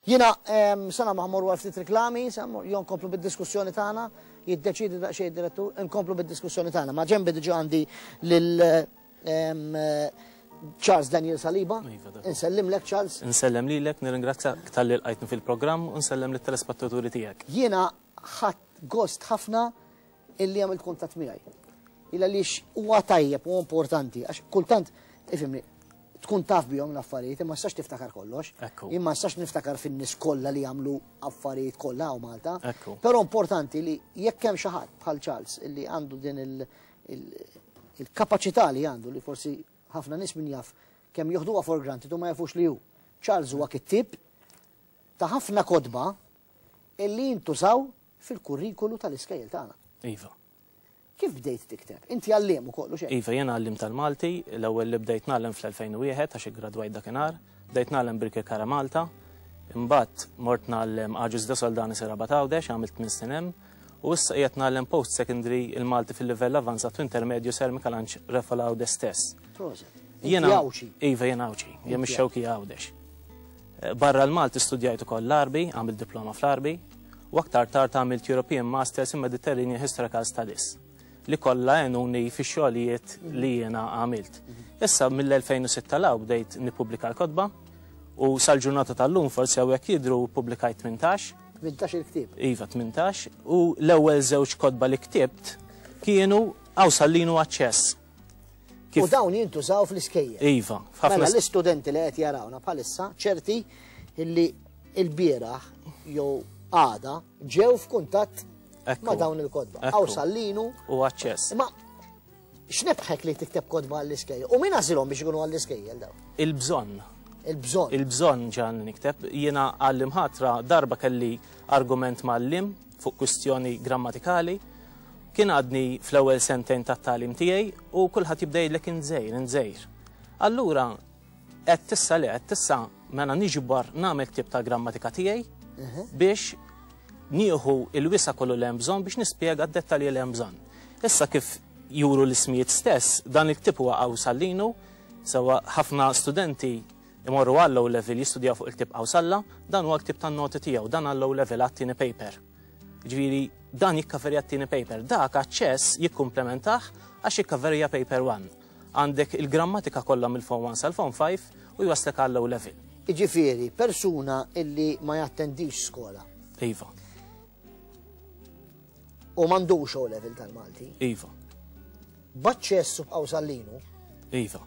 Jiena sa nagħmlu ħa mmorru għal ftit riklami, sa jew nkomplu bid-diskussjoni tagħna, jiddeċiedi daqsxejn id-direttur, nkomplu bid-diskussjoni tagħna. Ma ġenbi diġà għandi lil Charles Daniel Saliba. Iva, dak. Insellimlek Charles. Insellem lilek, nirringrazzjak talli lqajtni fil-programm u nsellem lit-telespettaturi tiegħek. Jiena ħadt gost ħafna illi għamilt kuntatt miegħi. Il għaliex huwa tajjeb u importanti għax kultant ifhimni tkun taf bihom l-affarijiet imma tistax tiftakar kollox. Ekku. Imma tistax niftakar fin-nies kollha li jagħmlu affarijiet kollha hawn Malta. Ekku. Però importanti li jekk hemm xi ħadd bħal Charles illi għandu din il-kapaċità li għandu li forsi ħafna nies min jaf kemm joħduha for granted u ma jafux li hu. Charles huwa kittieb ta' ħafna kotba illi jintużaw fil-kurrikulu tal-iskejjel tagħna. Iva. Kif bdejt tikteb? Inti għalliem ukoll u xejn. Iva, jiena għalliem tal-Malti, l-ewwel li bdejt ngħallem fl-2001 għax iggradwajt dakinhar, bdejt ngħallem Birkirkara Malta, imbagħad mort ngħallem Agius de Soldanis ir-Rabat Għawdex, għamilt tmien snin hemm, u issa qiegħed ngħallem post-secondary il-Malti fil-livell avanzat u intermedju Sir Mikalanġ Refola Għawdex stess. Proset. Inti Jiena Għawdxi. Iva, jiena Għawdxi, jien mix-Xewkija Għawdex. Barra l-Malti studjajt ukoll l-Għarbi, għamilt diploma fl-Għarbi, u aktar tard għamilt European Masters in Mediterranean Historical Studies li kollha għenuni fix-xogħlijiet li jiena għamilt. Issa mill-2006 law bdejt nippubblika l-kotba u sal-ġurnata tal-lum forsi hawnhekk jidhru ppubblikajt 18. 18 il-ktieb. Iva, 18 u l-ewwel żewġ kotba li ktibt kienu Qawsallin u Aċċess. U dawn jintużaw fl-iskejjel. Iva, f'ħafna Mela l-istudenti li qed jarawna bħalissa ċerti illi il-bieraħ jew għada ġew f'kuntatt ma' dawn il-kotba. Qawsallinu u Aċċess. Imma x'nebħek li tikteb kotba għall-iskejjel? U min għażilhom biex ikunu għall-iskejjel dawn? Il-bżonn. Il-bżonn. Il-bżonn ġan nikteb. Jiena għall-imħatra darba kelli argument ma' għalliem fuq kwistjoni grammatikali. Kien għadni fl-ewwel sentejn tat-tagħlim tiegħi u kulħadd jibda jgħidlek int żgħir, int żgħir. Allura għedt issa le, għedt issa mela niġbor nagħmel ktieb tal-grammatika tiegħi biex nieħu il-wisa' kollu li hemm bżonn biex nispjega d-dettalji li hemm bżonn. Issa kif juru l-ismijiet stess, dan il-ktieb huwa Qawsallinu, sewwa ħafna studenti imorru għall-O level jistudjaw fuq il-ktieb Qawsalla, dan huwa l-ktieb tan-noti tiegħu, dan għall-O level għat-tieni paper. Jiġifieri dan jikkaverja t-tieni paper, dak aċċess jikkumplementah għax jikkaverja paper 1. Għandek il-grammatika kollha mill-form 1 sal-form 5 u jwasslek għall-O level. Jiġifieri persuna illi ma jattendix skola. Iva. U m'għandux O level tal-Malti. Iva. B'aċċess u b'Qawsallinu. Iva.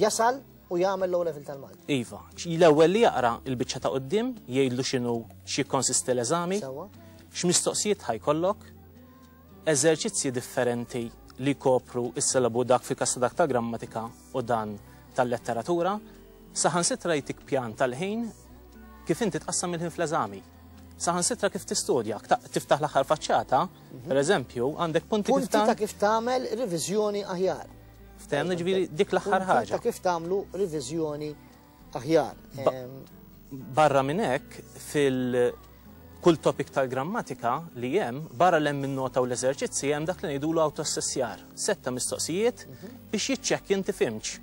Jasal u jagħmel l-O level tal-Malti. Iva. L-ewwel li jaqra l-biċċa ta' quddiem, jgħidlu x'inhu x'jikkonsisti l-eżami, x'mistoqsijiet ħa jkollok, eżerċizzji differenti li jkopru s-sillabu dak fil-każ ta' dak tal-grammatika u dan tal-letteratura, saħansitra jtik pjan tal-ħin kif inti tqassam il-ħin fl-eżami. Saħansitra kif tistudja, tiftaħ l-aħħar faċċata, per eżempju, għandek punti kif Punti ta' kif tagħmel riviżjoni aħjar. Ftehemna ġifieri dik l-aħħar Punti ta' ħaġa. kif tagħmlu riviżjoni aħjar. Barra minn hekk, fil kull topic tal-grammatika li hemm, barra l hemm in-nota u l-eżerċizzi hemm dak li ngħidulu autoassessjar, setta mistoqsijiet biex jiċċekkja inti fhimtx.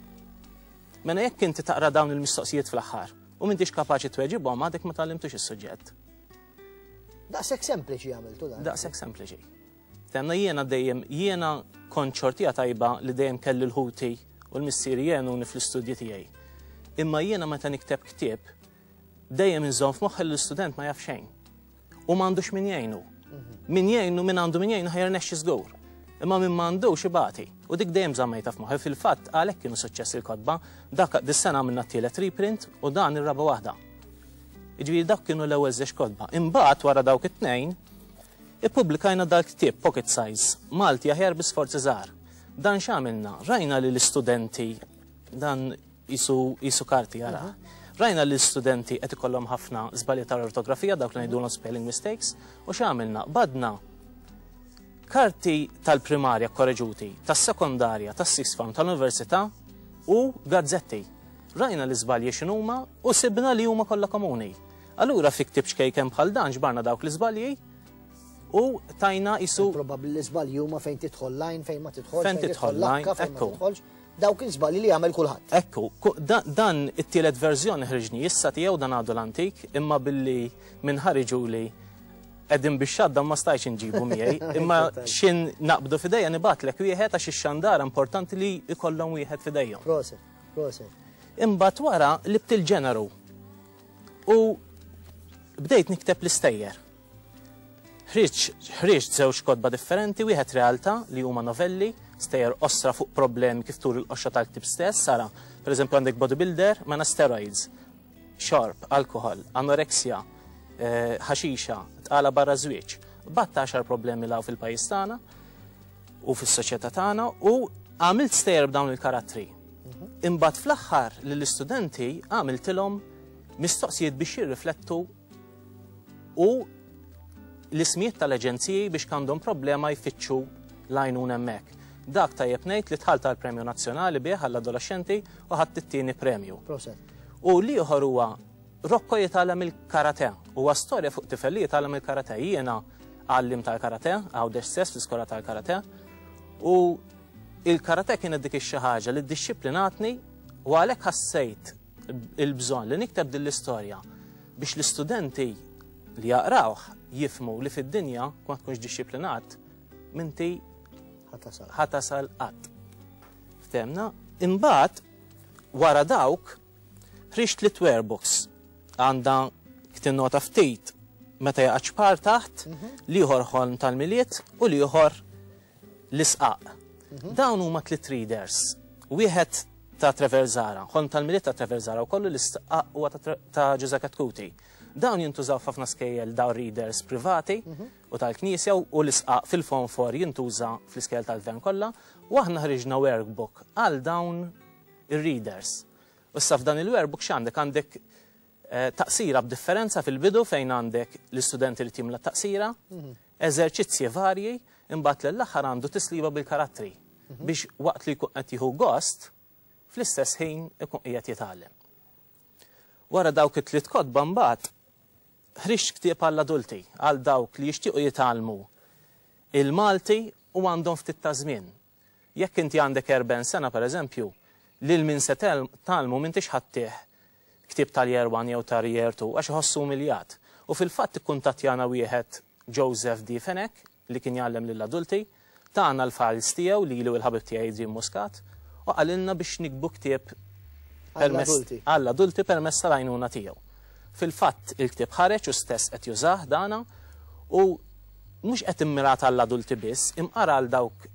Mela jekk inti taqra dawn il-mistoqsijiet fl-aħħar u m'intix kapaċi tweġibhom għadek ma tgħallimtux is-suġġett. Daqshekk sempliċi għamiltu dan. Daqshekk sempliċi. Tenna jiena dejjem jiena kont xortija tajba li dejjem kelli l-ħuti u l-missieri jgħinuni fl-istudji tiegħi. Imma jiena meta nikteb ktieb dejjem inżomm f'moħħi li l-istudent ma jaf xejn. U m'għandux min jgħinu. Min jgħinu, min għandu min jgħinu ħa jirnexxi żgur. Imma min m'għandux ibati. U dik dejjem żammejtha f'moħħi. Fil-fatt għalhekk kienu suċċess il-kotba. Dak dis-sena għamilna t-tielet reprint u dan ir-raba' waħda. Jiġifieri dawk kienu l-ewwel żewġ kotba. Imbagħad wara dawk it-tnejn ippubblikajna dal-ktieb Pocket Size, Malti aħjar bi sforzi żgħar. Dan x'għamilna? Rajna li l-istudenti dan qisu qisu karti ara. Rajna li l-istudenti qed ikollhom ħafna żbalji tal-ortografija, dawk li ngħidulhom spelling mistakes, u x'għamilna? Badna karti tal-primarja korreġuti, tas-sekondarja, tas-sixth form, tal-università u gazzetti. Rajna l-iżbalji x'inhuma u sibna li huma kollha komuni. Allura fi ktieb ċkejken bħal dan ġbarna dawk l-iżbalji u tajna qisu. Probabbli l-iżbalji huma fejn tidħol lajn, fejn ma tidħolx, fejn tidħol lajn, fejn ma tidħolx. dawk il-żbalji li jagħmel kulħadd. Ekku, dan it-tielet verżjoni ħriġni issa tiegħu dan għadu l-antik, imma billi minn ħariġuli qegħdin biex xadda ma stajtx inġibu miegħi, imma xin naqbdu f'idejja nibgħatlek wieħed għax ix-xandara importanti li jkollhom wieħed f'idejhom. Proset, proset. Imbagħad wara libt il-ġeneru u bdejt nikteb l-istejjer. Ħriġt żewġ kotba differenti, wieħed realtà li huma novelli, stejjer qosra fuq problemi kif turi l-qoxra tal-ktieb stess, ara, pereżempju għandek bodybuilder mela steroids, xorb, alkohol, anoreksja, eh, ħaxixa, tqala barra żwieġ. Batta għaxar problemi law fil-pajjiż tagħna u fis-soċjetà tagħna u għamilt stejjer b'dawn il-karattri. Imbagħad fl-aħħar lill-istudenti għamiltilhom mistoqsijiet biex jirriflettu u l-ismijiet tal-aġenziji biex għandhom problema jfittxu l-għajnuna hemmhekk. Dak tajjeb ngħid li dħalt għal premju nazzjonali bih għall-adolescenti u ħadt it-tieni premju. Proset. U l-ieħor huwa Rocco jitgħallem il-karate. Huwa storja fuq tifel li jitgħallem il-karate. Jiena għallim tal-karate, Għawdex stess fl-iskola tal-karate. U il-karate kienet dik ix-xi ħaġa li ddixxiplinatni u għalhekk ħassejt il-bżonn li nikteb din l-istorja biex l-istudenti li jaqrawh jifhmu li fid-dinja ma tkunx dixxiplinat minti ħatasal qatt. Ftemna, imbagħad wara dawk ħriġt li Books għandha ktinnota ftit meta jaqa' ċpar taħt, liħor ħolm tal-Milied u liħor l-isqaq. Dawn huma tliet readers. Wieħed ta' Trevor Zahra, ħolm tal-Milied ta' Trevor Zahra u kollu l-isqaq huwa ta' Ġużè Chetcuti. Dawn jintużaw f'ħafna skejjel dawn readers privati u tal-Knisja u l-isqaq fil-fonfor jintuża fl-iskejjel tal-gvern kollha u aħna ħriġna workbook għal dawn ir-readers. U issa f'dan il-workbook x'għandek? Għandek taqsira b'differenza fil-bidu fejn għandek l-istudenti li timla taqsira, eżerċizzji varji, imbagħad l-aħħar għandu tisliba bil-karattri biex waqt li jkun qed jieħu gost, fl-istess ħin ikun qiegħed jitgħallem. Wara dawk it-tliet kotba mbagħad ħriġt ktieb għall-adulti, għal dawk li jixtiequ jitgħallmu il-Malti u għandhom ftit ta' żmien. Jekk inti għandek 40 sena pereżempju, lil min se tgħallmu m'intix ħa ttih ktieb tal-year 1 jew tal-year 2 għax iħossu umiljat. U fil-fatt ikkuntattjana wieħed Joseph D. Fenech li kien jgħallem lill-adulti, tana l-files tiegħu lili u l-ħabib tiegħi Adrian Muscat u qalilna biex nikbu ktieb għall-adulti permezz tal-għajnuna tiegħu. Fil-fatt il-ktieb ħareġ u stess qed jużah dana u mhux qed immirat għall-adulti biss, imqara għal dawk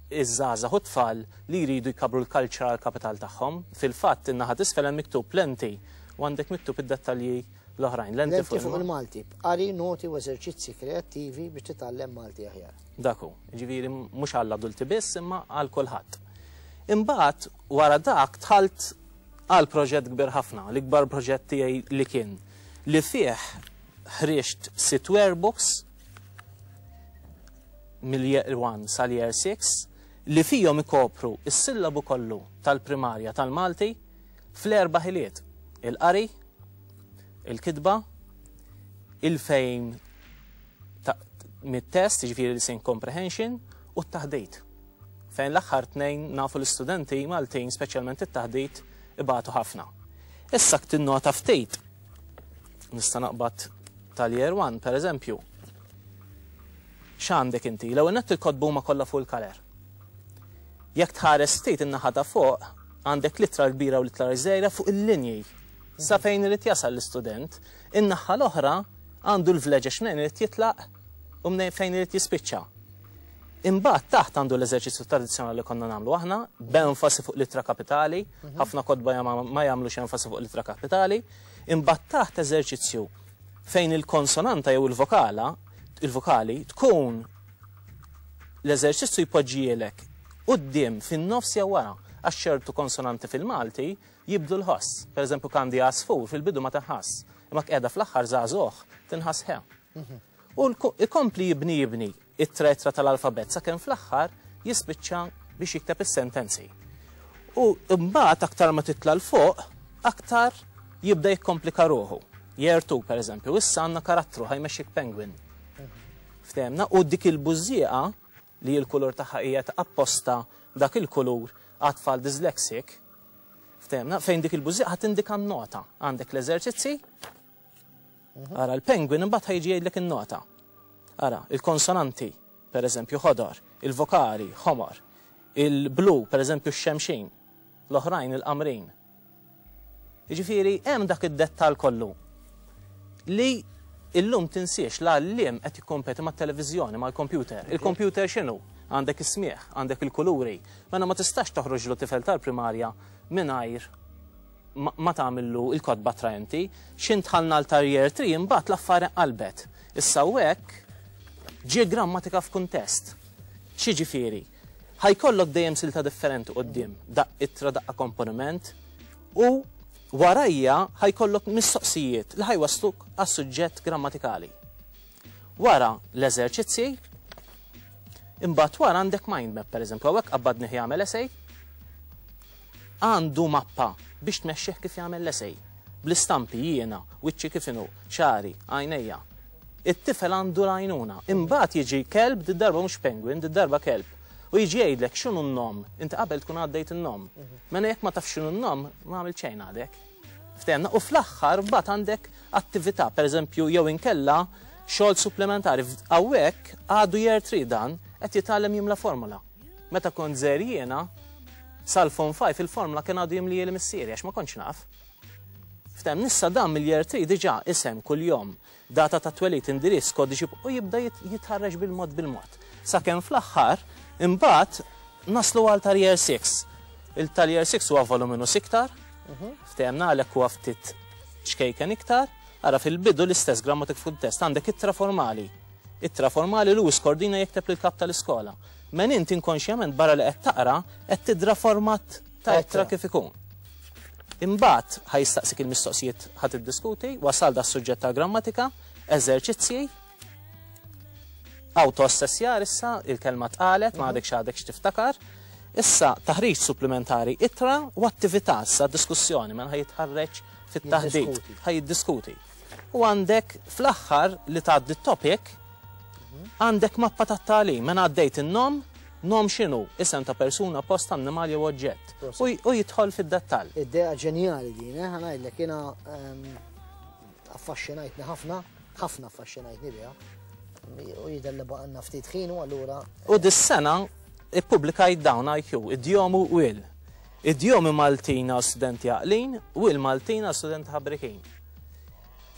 iż-żgħażagħ u tfal li jridu jkabru l-cultural capital tagħhom. Fil-fatt in-naħa t'isfel hemm miktub lenti u għandek miktub id-dettalji l-oħrajn. Lenti fuq il-Malti, qari noti u eżerċizzi kreattivi biex titgħallem Malti aħjar. Dak hu, ġifieri mhux għall-adulti biss imma għal kulħadd. Imbagħad wara dak dħalt għal proġett kbir ħafna, l-ikbar proġett tiegħi li kien li fih ħriġt sitt workbooks mill-year 1 sal-year 6 li fihom ikopru is-sillabu kollu tal-primarja tal-Malti fl-erba' ħiliet: il-qari, il-kitba, il-fejm mit-test, jiġifieri listening comprehension, u t-taħdit. Fejn l-aħħar tnejn nafu l-istudenti Maltin, speċjalment it-taħdit, ibatu ħafna. Issa tinnota ftit, nista' naqbad tal-year 1, per eżempju. X'għandek inti? L-ewwel nett il-kotba huma kollha full color. Jekk tħares ftit in-naħa ta' fuq, għandek l-ittra l-kbira u l-ittra żgħira fuq il-linji. Sa fejn irid jasal l-istudent, in-naħa l-oħra għandu l-vleġeġ minn irid jitlaq u minn fejn irid jispiċċa. Imbagħad taħt għandu l-eżerċizzju tradizzjonali li konna nagħmlu aħna, b'enfasi fuq l-ittra kapitali, ħafna kotba ma jagħmlux enfasi fuq l-ittra kapitali, imbagħad taħt eżerċizzju fejn il-konsonanta jew il-vokala, il-vokali tkun l-eżerċizzju jpoġġielek quddiem fin-nofs jew wara, għax ċertu konsonanti fil-Malti jibdlu l-ħoss. Per eżempju, kandi għasfur fil-bidu ma tinħass, imma qiegħda fl-aħħar żagħżugħ tinħass ħe. U ikompli jibni jibni it-tretra tal-alfabet sakemm fl-aħħar jispiċċa biex jikteb is-sentenzi. U mbagħad aktar ma titla' 'l fuq, aktar jibda jikkomplika ruħu. Year 2, per eżempju, issa għandna karattru ħa jmexxik penguin. Ftehemna, u dik il-bużżieqa li l-kulur tagħha hija apposta dak il-kulur. għat-tfal dyslexic, ftehimna, fejn dik il-bużżieqa ħa tindika n-nota. Għandek l-eżerċizzi, ara l-penguin imbagħad ħa jiġi jgħidlek in-nota. Ara, il-konsonanti, per eżempju, ħodor, il-vokali, ħomor, il-blu, per eżempju, x-xemxin, l-oħrajn il-qamrin. Jiġifieri hemm dak id-dettall kollu li illum tinsiex l-għalliem qed jikkompeti mat-televiżjoni, mal-kompjuter. Il-kompjuter x'inhu? Għandek is-smigħ, għandek il-kuluri. Mela ma tistax toħroġlu tifel tal-primarja mingħajr ma tagħmillu il-kotba attraenti. X'int dħalna l tal-year 3 imbagħad l-affari qalbet. Issa hekk ġie grammatika f'kuntest. X'jiġifieri? Ħa jkollok dejjem silta differenti quddiem, daqq ittra, daqqa komponiment, u warajja ħa jkollok mistoqsijiet li ħa jwassluk għas-suġġett grammatikali. Wara l-eżerċizzji, imbagħad wara għandek mind map, pereżempju, hawnhekk qabbadnih jagħmel essay, għandu mappa biex tmexxih kif jagħmel l-essay. Bl-istampi jiena, wiċċi kif inhu, xagħri, għajnejja. It-tifel għandu l-għajnuna. Imbagħad jiġi kelb, did-darba mhux penguin, did-darba kelb. U jiġi jgħidlek x'inhu n-nom. Inti qabel tkun għaddejt in-nom. Mela jekk ma tafx x'inhu n-nom, ma għamilt xejn għadek. Ftehemna? U fl-aħħar mbagħad għandek attività, pereżempju jew inkella xogħol supplementari. Hawnhekk għadu year 3 dan qed jitgħallem jimla formula. Meta kont żgħir jiena, sal-form 5 il-formula kien għadu jimlieli missieri għax ma kontx naf. Ftem, issa dan mill-year 3 diġà isem kuljum, data ta' twelid, indirizz, kodiċi u jibda jitħarreġ bil-mod bil-mod. Sakemm fl-aħħar imbagħad naslu għal tal-year 6. Il-tal-year 6 huwa voluminus iktar, ftehemna għalhekk huwa ftit ċkejken iktar, ara fil-bidu l-istess grammatik f'kuntest għandek ittra formali. Ittra formali Louis Cordina jekteb lill-kap tal-iskola. Men int inkonxjament barra li qed taqra qed tidra format ta' ittra kif ikun. Imbagħad ħa jistaqsik il-mistoqsijiet ħa tiddiskuti, wasal da suġġett tal-grammatika, eżerċizzji, auto-assessjar issa, il-kelma tqalet, ma għadek x'għadek x'tiftakar. Issa taħriġ supplementari ittra u attività issa diskussjoni, mela ħa jitħarreġ fit-taħdit, ħa jiddiskuti. U għandek fl-aħħar li tgħaddi t-topic, għandek mappa tat-tagħlim, mela għaddejt in-nom, nom x'inhu? Isem ta' persuna, post, annimal jew oġġett. U jidħol fid-dettall. Idea ġenjali din, eh, ħa ngħidlek jiena affaxxinajtni ħafna, ħafna affaxxinajtni biha. U jidher li baqgħalna ftit ħin u allura. U dis-sena ippubblikajt dawn IQ, idjomu u il. Idjomi Maltin għal studenti għaqlin u il Maltin għal studenti ħabrikin.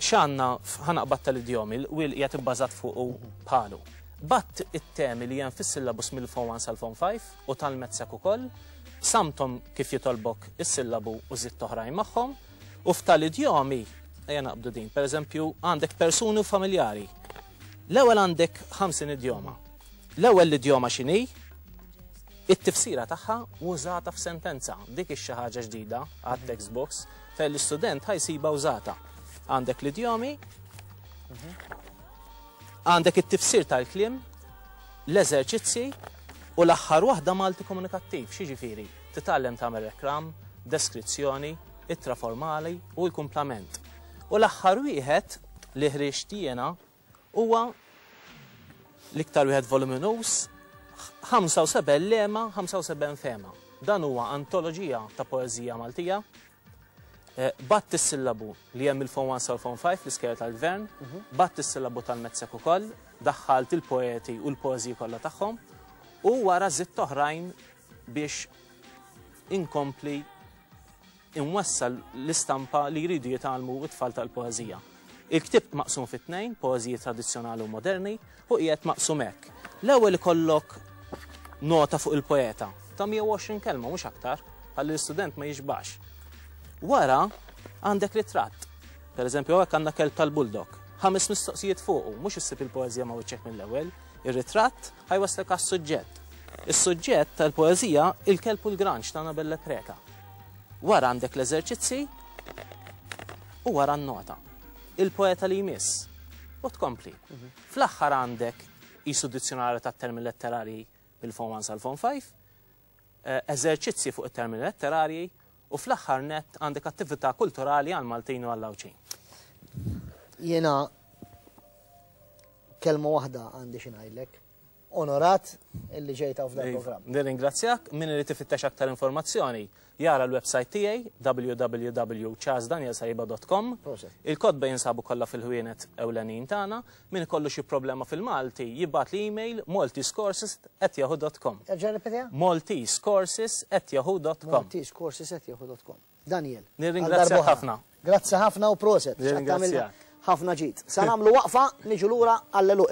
X'għandna ħa naqbad tal-idjomi, il qiegħed ibbażat fuq u bħalu. Batt it-temi li hemm fis-syllabus mill-Form 1 sal-Form 5 u tal-MATSEC ukoll, samthom kif jitolbok is-sillabu u żidt oħrajn magħhom, u f'tal-idjomi, ejja naqbdu din, pereżempju għandek persuni u familjari. L-ewwel għandek 50 idjoma. L-ewwel l-idjoma x'inhi? It-tifsira tagħha użata f'sentenza. Dik ix xi ħaġa ġdida għat-textbooks fejn l-istudent ħa jsibha użata. Għandek l-idjomi, għandek it-tifsir tal-kliem, l-eżerċizzi u l-aħħar waħda Malti komunikattiv, x'jiġifieri? Titgħallem tagħmel reklam, deskrizzjoni, ittra formali u l-kumplament. U l-aħħar wieħed li ħriġt jiena huwa l-iktar wieħed voluminuż, 75 lema, 75 fehma. Dan huwa antoloġija ta' poeżija Maltija. Batt is-sillabu li hemm il-Form 1 sal-Form 5 fl-iskejjel tal-Gvern, batt is-sillabu tal-MATSEC ukoll, daħħalt il-poeti u l-poeżiji kollha tagħhom, u wara żidt oħrajn biex inkompli inwassal l-istampa li jridu jitgħallmu t-tfal tal-poeżija. Il-ktieb maqsum fi tnejn, poeżiji tradizzjonali u moderni, u qiegħed maqsum hekk. L-ewwel ikollok nota fuq il-poeta ta' 120 kelma mhux aktar, ħalli l-istudent ma jixbax. Wara għandek ritratt. Per eżempju, hawnhekk għandna kelb tal-bulldog. 5 mistoqsijiet fuqu, mhux issib il-poeżija ma' wiċċek mill-ewwel. Ir-ritratt ħa jwasslek għas-suġġett. Is-suġġett tal-poeżija Il-kelb u l-granċ ta' Annabelle Preca. Wara għandek l-eżerċizzi u wara n-nota. Il-poeta li jmiss. U tkompli. Fl-aħħar għandek qisu dizzjonarju tat-termini letterarji mill-Form 1 sal-Form 5, eżerċizzi fuq it-termini letterarji u fl-aħħar nett għandek attività kulturali għall-Maltin u għall-Għawdxin. Jiena kelma waħda għandi xi ngħidlek. Onorat illi ġejt hawn f'dan il-programm. Nirringrazzjak, min irid ifittex aktar informazzjoni jara l-website tiegħi www.charlesdanielsaiba.com. Il-kotba jinsabu kollha fil-ħwienet ewlenin tagħna. Min ikollu xi problema fil-Malti jibgħatli email maltesecourses@yahoo.com. Erġa' rrepetiha? maltesecourses@yahoo.com. maltesecourses@yahoo.com. Daniel. Nirringrazzjak ħafna. Grazzi ħafna u proset. Nirringrazzjak. Ħafna ġid. Sa nagħmlu waqfa niġu lura għall-għeluq.